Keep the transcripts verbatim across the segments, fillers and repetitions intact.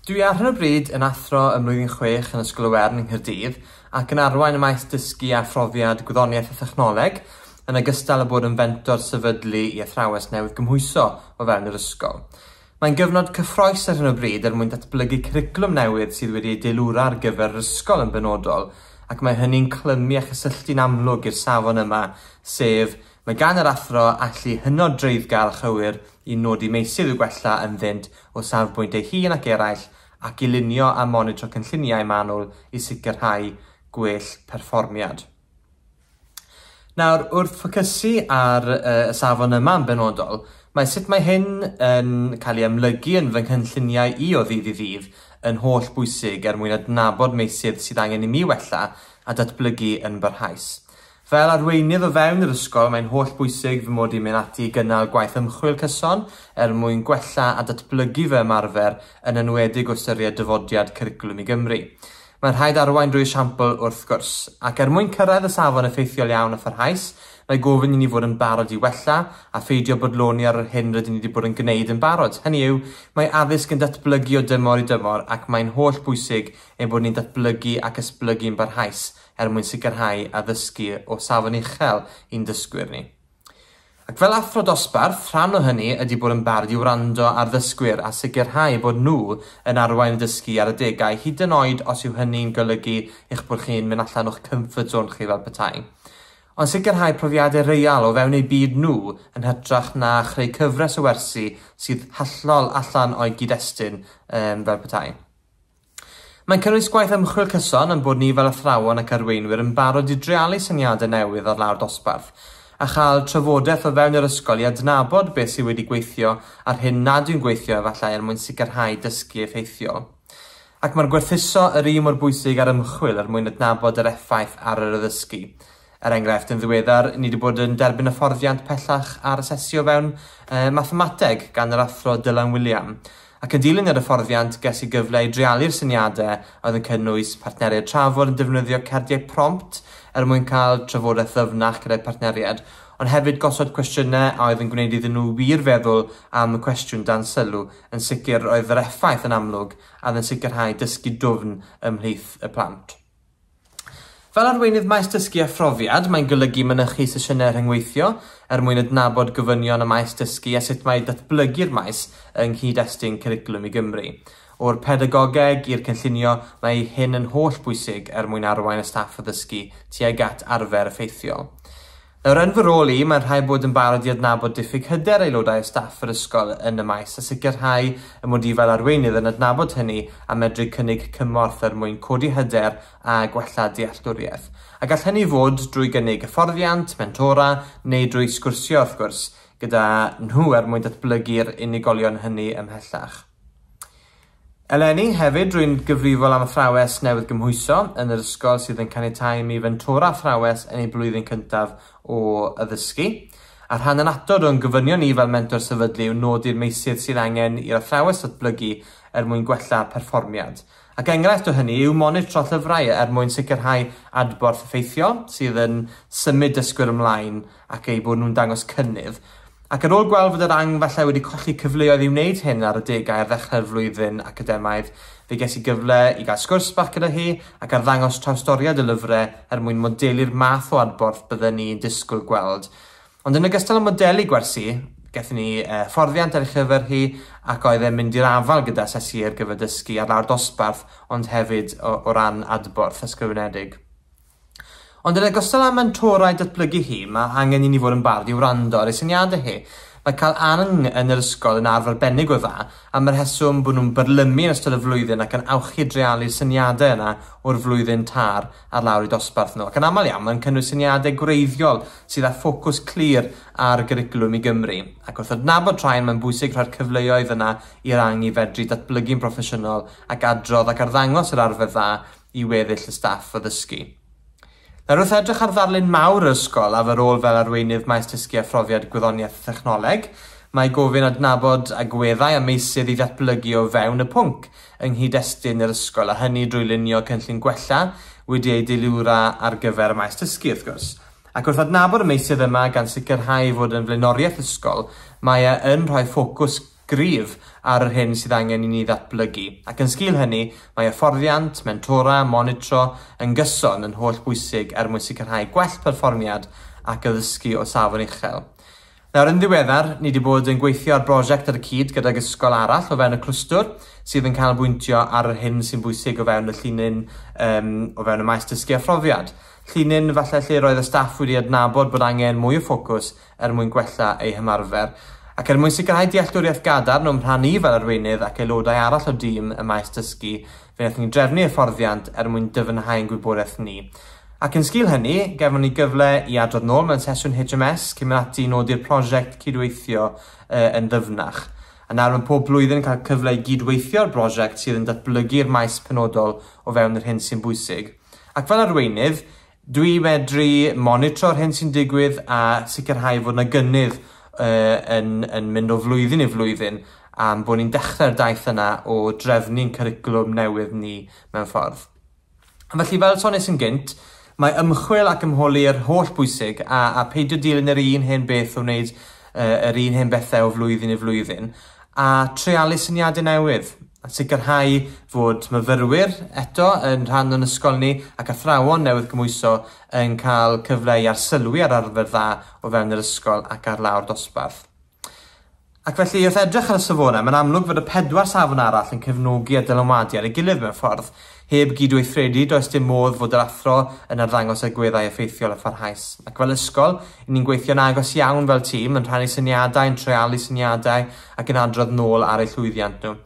Dwi ar hyn o bryd yn athro ym mlwyddyn chwech yn Ysgol y Wern yng Nghaerdydd ac yn arwain y maes dysgu a phrofiad gwyddoniaeth a thechnoleg, yn ogystal â bod yn fentor sefydlu i athrawes newydd gymhwyso o fewn yr ysgol. Mae'n gyfnod cyffrous ar hyn o bryd er mwyn datblygu cwricwlwm newydd sydd wedi ei deilwra ar gyfer yr ysgol yn benodol, ac mae hynny'n clymu a chysylltu'n amlwg i'r safon yma, sef mae gan yr athro allu hynod dreiddgar a chywir i nodi meysydd i'w gwella ynddynt o safbwynt ei hun ac eraill, ac i lunio a monitro cynlluniau manwl i sicrhau gwell perfformiad. Nawr, wrth ffocysu ar uh, y safon yma yn benodol, mae sut mae hyn yn cael ei amlygu yn fy nghynlluniau i o ddydd i ddydd yn holl bwysig er mwyn adnabod meysydd sydd angen i mi wella a datblygu yn barhaus. Fel arweinydd o fewn yr ysgol, mae'n holl bwysig fy mod i'n mynd ati i gynnal gwaith ymchwil cyson er mwyn gwella a datblygu fy ymarfer, yn enwedig o ystyried dyfodiad Cwricwlwm i Gymru. Mae'n rhaid arwain drwy esiampl wrth gwrs, ac er mwyn cyrraedd y safon effeithiol iawn a pharhaus, mae gofyn i ni fod yn barod i wella a pheidio bodloni ar yr hyn rydyn ni wedi bod yn gwneud yn barod. Hynny yw, mae addysg yn datblygu o dymor i dymor ac mae'n holl bwysig ein bod ni'n datblygu ac esblygu'n barhaus er mwyn sicrhau addysgu o safon uchel i'n dysgwyr ni. Ac fel athro dosbarth, rhan o hynny ydy bod yn barod i wrando ar ddysgwyr a sicrhau bod nhw yn arwain y dysgu ar adegau, hyd yn oed os yw hynny'n golygu eich bod chi'n mynd allan o'ch comfort zone chi fel petai. Ond sicrhau profiadau real o fewn eu byd nhw yn hytrach na chreu cyfres o wersi sydd hollol allan o'i gyd-destun um, fel petai. Mae'n cynnwys gwaith ymchwil cyson yn bod ni fel athrawon ac arweinwyr yn barod i dreialu syniadau newydd ar lawr dosbarth, a chael trafodaeth o fewn yr ysgol i adnabod beth sydd wedi gweithio a'r hyn nad yw'n gweithio efallai er mwyn sicrhau dysgu effeithiol. Ac mae'r gwerthuso yr un mor bwysig ar ymchwil er mwyn adnabod yr effaith ar yr addysgu. Er enghraifft, yn ddiweddar, ni wedi bod yn derbyn hyfforddiant pellach ar asesu o fewn eh, mathemateg gan yr athro Dylan William. Ac yn dilyn yr hyfforddiant, ges i gyfle i dreialu'r syniadau oedd yn cynnwys partneriaid trafod yn defnyddio cardiau prompt er mwyn cael trafodaeth ddyfnach gyda'i partneriaid, ond hefyd gosod cwestiynau a oedd yn gwneud iddyn nhw wir feddwl am y cwestiwn dan sylw. Yn sicr oedd yr effaith yn amlwg a oedd yn sicrhau dysgu dwfn ymhlith y plant. Fel arweinydd maes dysgu a phrofiad, mae'n golygu mynychu sesiynau rhyngweithio er mwyn adnabod gofynion y maes dysgu a sut mae datblygu'r maes yng nghyd-destun Cwricwlwm i Gymru. O'r pedagogeg i'r cynllunio, mae hyn yn holl bwysig er mwyn arwain y staff addysgu tuag at arfer effeithiol. Nawr, yn fy rôl i, mae'n rhaid bod yn barod i adnabod diffyg hyder aelodau o staff yr ysgol yn y maes a sicrhau y mod i fel arweinydd yn adnabod hynny a medru cynnig cymorth er mwyn codi hyder a gwella dealltwriaeth. A gall hynny fod drwy gynnig hyfforddiant, mentora neu drwy sgwrsio wrth gwrs gyda nhw er mwyn datblygu'r unigolion hynny ymhellach. Eleni hefyd, rwy'n gyfrifol am athrawes newydd gymhwyso yn yr ysgol sydd yn caniatáu i mi fentora athrawes yn ei blwyddyn cyntaf o addysgu. A rhan annatod o'n gofynion ni fel mentor sefydlu yw nodi'r meysydd sydd angen i'r athrawes datblygu er mwyn gwella perfformiad. Ac enghraifft o hynny yw monitro llyfrau er mwyn sicrhau adborth effeithiol sydd yn symud dysgwyr ymlaen ac eu bod nhw'n dangos cynnydd. Ac ar ôl gweld fod yr ang falle wedi colli cyfleoedd i wneud hyn ar adegau ar ddechrau'r flwyddyn academaidd, fe ges i gyfle i gael sgwrs bach gyda hi ac arddangos trawstoriad y lyfrau er mwyn modelu'r math o adborth bydden ni'n disgwyl gweld. Ond yn ogystal â modelu gwersi, gaethon ni eh, fforddiant ar ei chyfer hi ac oedd e'n mynd i'r afael gyda asesu ar gyfer dysgu ar lawr dosbarth, ond hefyd o, o ran adborth ysgrifenedig. Ond yn ogystal â mentorau datblygu hi, mae angen i ni fod yn barod i wrando ar ei syniadau hi. Mae cael ang yn yr ysgol yn arfer arbennig o dda, am yr rheswm bod nhw'n byrlymu yn ystod y flwyddyn ac yn awchu dreialu'r syniadau yna o'r flwyddyn tar ar lawr i dosbarth nhw. Ac yn aml iawn, mae'n cynnwys syniadau gwreiddiol sydd â ffocws clir ar Gwricwlwm i Gymru. Ac wrth adnabod rhain, mae'n bwysig rhoi'r cyfleoedd yna i'r ang i fedru datblygu'n proffesiynol ac adrodd ac arddangos yr arfer dda i weddill y staff addysgu. Nawr, wrth edrych ar ddarlun mawr yr ysgol a fy rôl fel arweinydd maes dysgu a phrofiad gwyddoniaeth a thechnoleg, mae gofyn adnabod agweddau a meysydd i ddatblygu o fewn y pwnc yng nghyd-destun yr ysgol, a hynny drwy lunio cynllun gwella wedi ei deilwra ar gyfer y maes dysgu, wrth gwrs. Ac wrth adnabod y meysydd yma gan sicrhau fod yn flaenoriaeth ysgol, mae e yn rhoi ffocws gryf ar yr hyn sydd angen i ni ddatblygu. Ac yn sgil hynny, mae hyfforddiant, mentora, monitro yn gyson yn holl bwysig er mwyn sicrhau gwell perfformiad ac addysgu o safon uchel. Nawr, yn ddiweddar, ni wedi bod yn gweithio ar brosiect ar y cyd gydag ysgol arall o fewn y clwstwr sydd yn canolbwyntio ar yr hyn sy'n bwysig o fewn y llinyn, um, o fewn y maes dysgu a phrofiad. Llinyn falle lle roedd y staff wedi adnabod bod angen mwy o ffocws er mwyn gwella eu hymarfer. Ac er mwyn sicrhau dealltwriaeth gadarn o'm rhan i fel arweinydd ac aelodau arall o dîm y maes dysgu, fe wnaethon ni drefnu hyfforddiant er mwyn dyfnhau'n gwybodaeth ni. Ac yn sgil hynny, gefon ni gyfle i adrodd nôl mewn sesiwn H M S cyn mynd ati i nodi'r prosiect cydweithio uh, yn ddyfnach. A nawr mae pob blwyddyn yn cael cyfle i gydweithio'r brosiect sydd yn datblygu'r maes penodol o fewn yr hyn sy'n bwysig. Ac fel arweinydd, dwi medru monitro'r hyn sy'n digwydd a sicrhau fod yna gynnydd uh, yn, yn mynd o flwyddyn i flwyddyn am bod ni'n dechrau'r daith yna o drefnu'n cwricwlwm newydd ni mewn ffordd. A felly, fel soniais yn gynt, mae ymchwil ac ymholi yr holl bwysig a, a peidio dilyn yr un hen beth o wneud uh, yr un hen bethau o flwyddyn i flwyddyn a treialu syniadau newydd a sicrhau fod myfyrwyr eto yn rhan o'n ysgol ni ac athrawon newydd gymhwyso yn cael cyfle i arsylwi ar arfer dda o fewn yr ysgol ac ar lawr dosbarth. Ac felly, wrth edrych ar y safonau, mae'n amlwg fod y pedwar safon arall yn cefnogi a dylanwadu ar ei gilydd mewn ffordd. Heb gydweithredu, does dim modd fod yr athro yn arddangos agweddau effeithiol a pharhaus. Ac fel ysgol, ni'n gweithio'n agos iawn fel tîm, yn rhannu syniadau, yn treialu syniadau ac yn adrodd nôl ar eu llwyddiant nhw.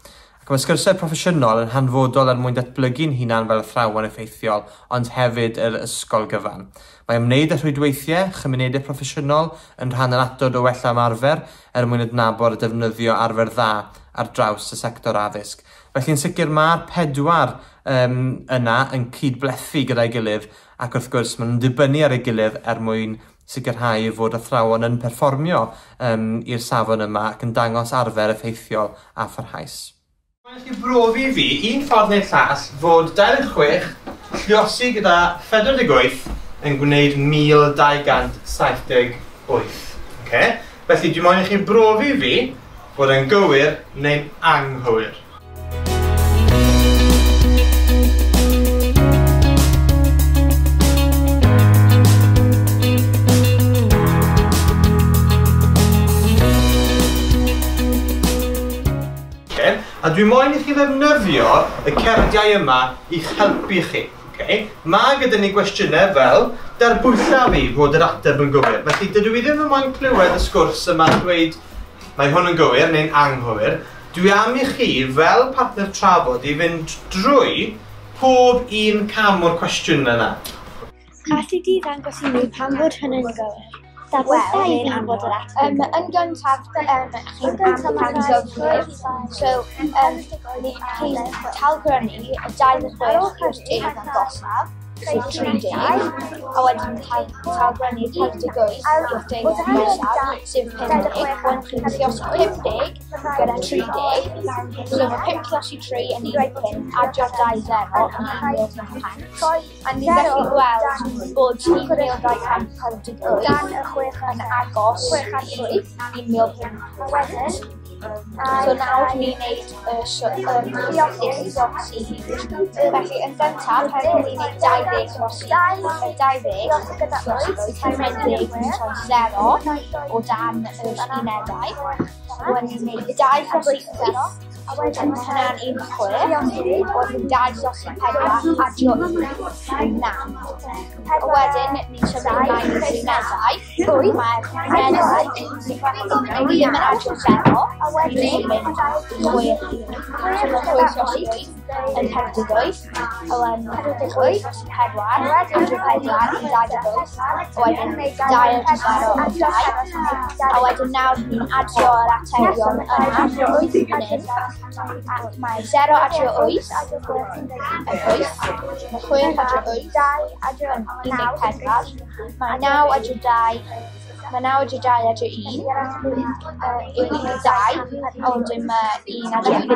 Ac mae sgyrsiau proffesiynol yn hanfodol er mwyn datblygu'n hunan fel athrawon effeithiol, ond hefyd yr ysgol gyfan. Mae ymwneud â rhwydweithiau, chymunedau proffesiynol yn rhan annatod o wella ymarfer er mwyn adnabod a defnyddio arfer dda ar draws y sector addysg. Felly yn sicr mae'r pedwar um, yna yn cydblethu gyda'i gilydd ac wrth gwrs maen nhw'n dibynnu ar ei gilydd er mwyn sicrhau fod athrawon yn perfformio um, i'r safon yma ac yn dangos arfer effeithiol a pharhaus. Mae'n chi brofi fi un ffordd neu'r llall fod dau ddeg chwech lluosi gyda phedwar deg wyth yn gwneud mil dau gant saith deg wyth. Okay? Felly dwi moyn i chi brofi fi bod yn gywir neu'n anghywir. A dwi moyn i chi ddefnyddio y cerdiau yma i'ch helpu chi. Okay? Mae gyda ni gwestiynau fel darbwylla fi fod yr ateb yn gywir. Felly dydw i ddim yn moyn clywed y sgwrs yma'n dweud mae hwn yn gywir neu'n anghywir. Dwi am i chi fel partner trafod i fynd drwy pob un cam o'r cwestiwn yna. Alli di ddangos i mi pam fod hynny'n gywir? Wel, um, yn gyntaf, um, chi'n amcangyfrif, so um, chi'n talgrynnu y dau ddeg chwech i'r deg agosaf, sef tri deg, a wedyn talgrynnu pedwar deg wyth i'r deg agosaf, sef pum deg, wedyn chi'n lluosi pum deg gyda tri deg, so mae pump lluosi tri yn un pump, adio'r dau zero yn un mil pump cant, a ni'n gallu gweld bod un mil dau cant pedwar deg wyth yn agos i un mil pump cant. So nawr ni'n neud y lluosi hyd. Felly yn gyntaf, ni'n neud dau ddeg lluosi dau ddeg lluosi wyth, pum deg troi zero o dan yr unedau. Wedyn ni'n neud dau lluosi wyth, wedyn hynna'n un chwech, wedyn dau lluosi pedwar, adio un naw. A wedyn ni'n symud ymlaen i'r unedau. Mae'r unedau ni ddim yn adio zero, ni'n mynd chwech un. So mae chwech lluosi wyth yn pedwar deg wyth, a wedyn chwech lluosi pedwar, adio pedwar yn dau deg wyth, a wedyn dau adio zero yn dau. A wedyn nawr ni'n adio'r atebion yna fan hyn. Ac mae zero adio wyth yn wyth, mae chwech adio wyth yn un deg pedwar, mae naw adio dau, mae naw adio dau adio un yw un deg dau, a wedyn mae un adio un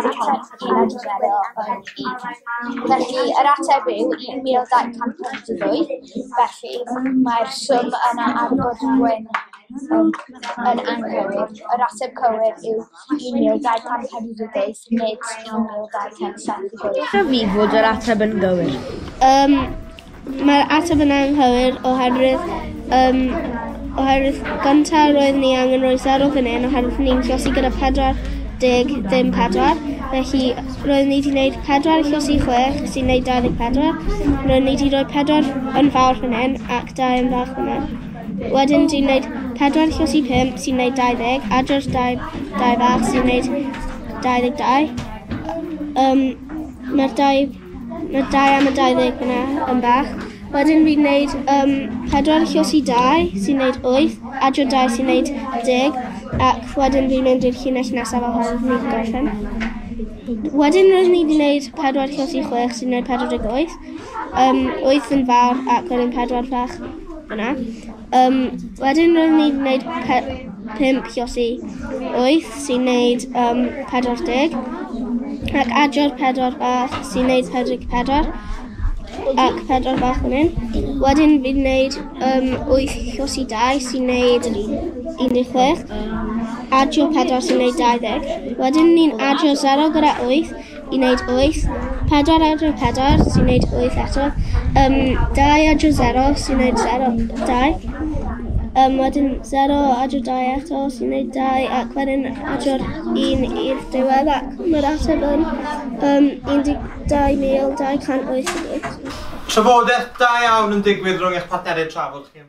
adio zero yn un. Felly yr ateb yw un mil dau cant pump deg wyth, felly mae'r swm yna ar bwrdd gwyn um, yn anghywir. Yr ateb cywir yw un mil dau cant pedwar deg wyth, nid un mil dau cant saith deg wyth. Dweud fi fod yr ateb yn gywir. Um, Mae'r ateb yn anghywir oherwydd, um, oherwydd gyntaf roedd ni angen rhoi sero fan hyn oherwydd ni'n llosi gyda pedwar deg ddim pedwar. Felly roedd ni wedi gwneud pedwar llosi chwech sy'n gwneud dau ddeg pedwar. Roedd ni wedi rhoi pedwar yn fawr fan hyn ac dau yn fach fan hyn. Wedyn dwi'n gwneud pedwar llosi pump sy'n gwneud dau ddeg, adro'r dau, dau fach sy'n gwneud dau ddeg dau. Um, Mae'r dau, mae'r dau am y dau ddeg fyna yn bach. Wedyn fi'n gwneud um, pedwar llosi dau sy'n gwneud wyth, adro dau sy'n gwneud deg, ac wedyn fi'n mynd i'r llinell nesaf oherwydd ni'n gorffen. Wedyn roedd ni wedi gwneud pedwar llosi chwech sy'n gwneud pedwar deg wyth, um, wyth yn fawr ac wedyn pedwar fach yna. Um, wedyn roedd ni wedi gwneud pe pump llosi wyth sy'n gwneud um, pedwar deg, ac adro'r pedwar bach sy'n gwneud pedwar deg pedwar, ac pedwar bach fan hyn. Wedyn fi'n gwneud um, wyth llosi dau sy'n gwneud un deg chwech, adio pedwar sy'n gwneud dau ddeg. Wedyn ni'n adio sero gyda wyth i wneud wyth, pedwar adio pedwar sy'n gwneud wyth eto, um, dau adio sero sy'n gwneud sero, dau. Um, wedyn sero adio dau eto sy'n gwneud dau, ac wedyn adio'r un i'r diwedd, ac mae'r ateb yn um, un deg dau mil dau cant wyth deg wyth. Trafodaeth da iawn yn digwydd rhwng eich partneriaid trafod chi.